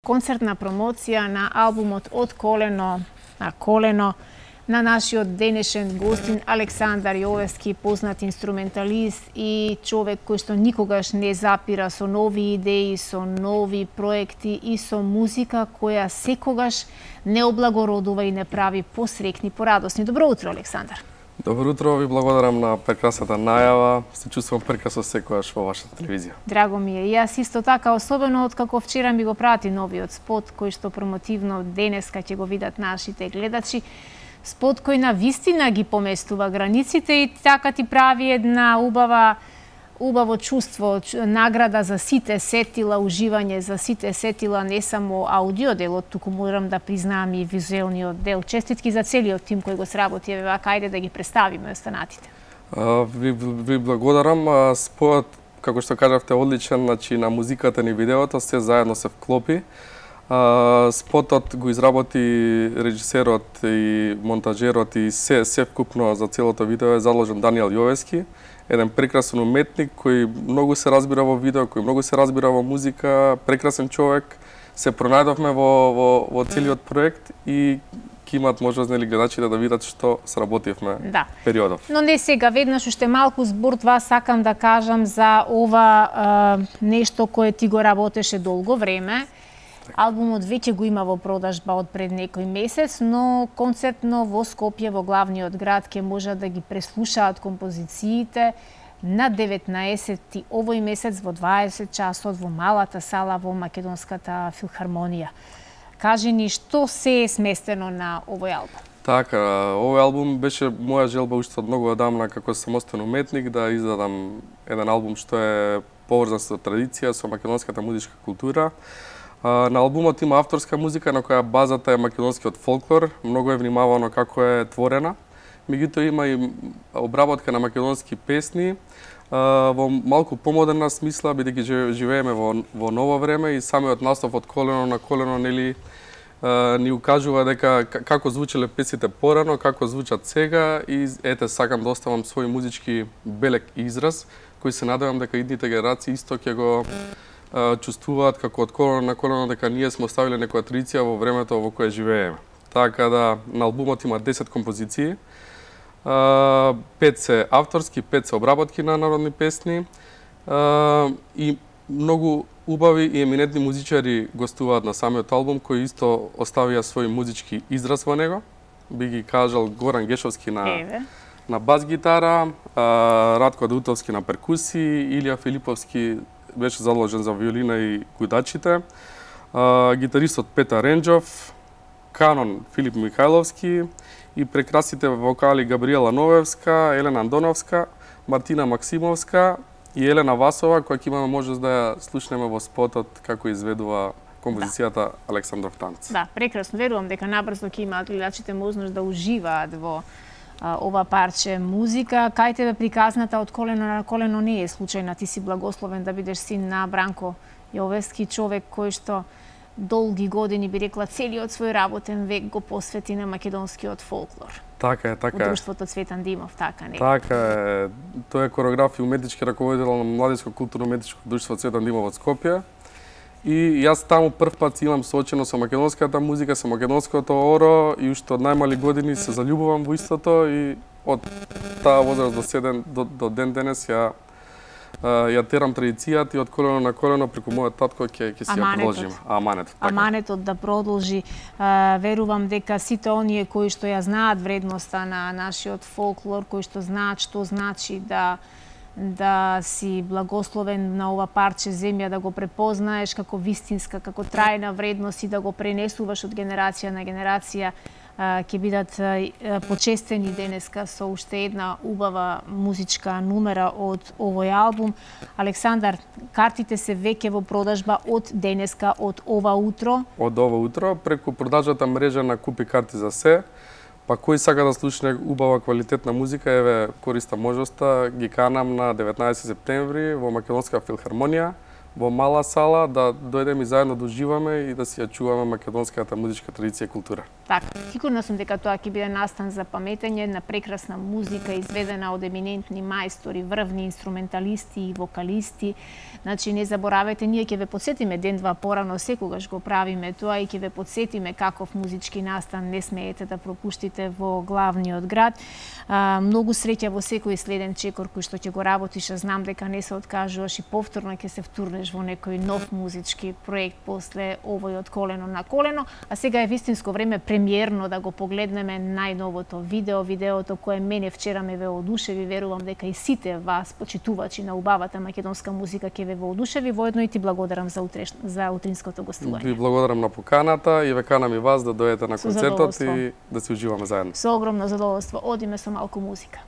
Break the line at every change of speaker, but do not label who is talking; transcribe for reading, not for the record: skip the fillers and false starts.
Концертна промоција на албумот Од колено на колено на нашиот денешен гостин Александар Јовевски, познат инструменталист и човек кој што никогаш не запира со нови идеи, со нови проекти и со музика која секогаш не облагородува и не прави посрекни, порадосни. Добро утро, Александар.
Добро утро, ви благодарам на прекрасната најава. Се чувствувам прекрасно секогаш во вашата телевизија.
Драго ми е. И јас исто така, особено откако вчера ми го прати новиот спот, кој што промотивно денеска ќе го видат нашите гледачи. Спот кој на вистина ги поместува границите и така ти прави една убаво чувство, награда за сите сетила, уживање за сите сетила, не само аудио делот, туку морам да признаам и визуелниот дел. Честитки за целиот тим кој го сработи, еве вака, ајде да ги представиме останатите.
Ви благодарам. Спојот, како што кажавте, одличен, значи на музиката ни видеото, се заедно се вклопи. Спотот го изработи режисерот и монтажерот и се вкупно за целото видео е заложен Даниел Јовевски, еден прекрасен уметник кој многу се разбира во видео, кој многу се разбира во музика, прекрасен човек. Се пронајдовме во целиот проект и ќе имаат можност нели гледачите да видат што сработивме периодов.
Но не сега, веднаш уште малку збор два сакам да кажам за ова нешто кое ти го работеше долго време. Албумот веќе го има во продажба од пред некој месец, но концертно во Скопје, во главниот град, ќе можат да ги преслушаат композициите на 19 овој месец во 20 часот во малата сала во Македонската филхармонија. Кажи ни што се е сместено на овој албум?
Така, овој албум беше моја желба уште од многу одамна како самостоен уметник да издадам еден албум што е поврзан со традиција, со македонската музичка култура. На албумот има авторска музика на која базата е македонскиот фолклор, многу е внимавано како е творена. Меѓутоа има и обработка на македонски песни во малку помодерна смисла, бидејќи живееме во ново време и самиот настав Од колено на колено нели ни укажува дека како звучеле песните порано, како звучат сега и ете сакам да оставам свој музички белек израз кој се надевам дека идните генерации исто ќе го чувствуваат како Од колено на колено дека ние сме оставиле некоја традиција во времето во кое живееме. Така да на албумот има 10 композиции. 5 се авторски, 5 се обработки на народни песни и многу убави и еминентни музичари гостуваат на самиот албум кои исто оставија свој музички израз во него. Би ги кажал Горан Гешовски на бас гитара, Радко Даутовски на перкусии, Илија Филиповски беше заложен за виолина и гудачите, гитаристот Петар Ренџов, канон Филип Михајловски и прекрасните вокали Габриела Новевска, Елена Андоновска, Мартина Максимовска и Елена Васова, која ќе имаме можност да ја слушнеме во спотот како изведува композицијата Александров танц.
Да, прекрасно. Верувам дека набрзо ќе имаат гледачите можност да уживаат во ова парче музика. Кај тебе приказната Од колено на колено не е случајна. Ти си благословен да бидеш син на Бранко Јовевски, човек кој што долги години, би рекла, целиот свој работен век го посвети на македонскиот фолклор.
Така е, така е.
Од друштвото Цветан Димов, така не?
Така е. Тој е кореограф и уметнички раководител на Младинско културно-уметничко друштво Цветан Димов од Скопје. И јас таму прв пат имам соочено со македонската музика, со македонското оро и уште од најмали години се заљубувам во истото и од таа возраст до ден денес ја терам традицијата и Од колено на колено преку мојот татко ќе си ја продолжиме. Аманетот.
Аманетот да продолжи. Верувам дека сите оние кои што ја знаат вредноста на нашиот фолклор, кои што знаат што значи да си благословен на ова парче земја, да го препознаеш како вистинска, како трајна вредност и да го пренесуваш од генерација на генерација, ќе бидат почестени денеска со уште една убава музичка номера од овој албум. Александар, картите се веќе во продажба од денеска, од ова утро?
Од ова утро, преку продажната мрежа на Купи карти за се. Па кој сака да слушне убава квалитетна музика, еве користам можноста, ги канам на 19 септември во Македонска филхармонија во мала сала, да дојдеме и заедно да уживаме и да си ја чуваме македонската музичка традиција и култура.
Така, сигурна сум дека тоа ќе биде настан за паметење на прекрасна музика изведена од еминентни мајстори, врвни инструменталисти и вокалисти. Значи, не заборавајте, ние ќе ве подсетиме ден-два порано, секогаш го правиме тоа и ќе ве подсетиме каков музички настан не смеете да пропуштите во главниот град. Многу среќа во секој следен чекор кој што ќе го работиш, знам дека не се откажуваш и повторно ќе се втурнеш во некој нов музички проект после овој од колено на колено, а сега е вистинско време премиерно да го погледнеме најновото видеото кое мене вчера ме ве одушеви, верувам дека и сите вас почитувачи на убавата македонска музика ќе ве воодушеви. Воедно и ти благодарам за утринското гостување.
Ви благодарам на поканата и ве канам и вас да дојдете на концертот и да се уживаме заедно.
Со огромно задоволство. Одиме со малку музика.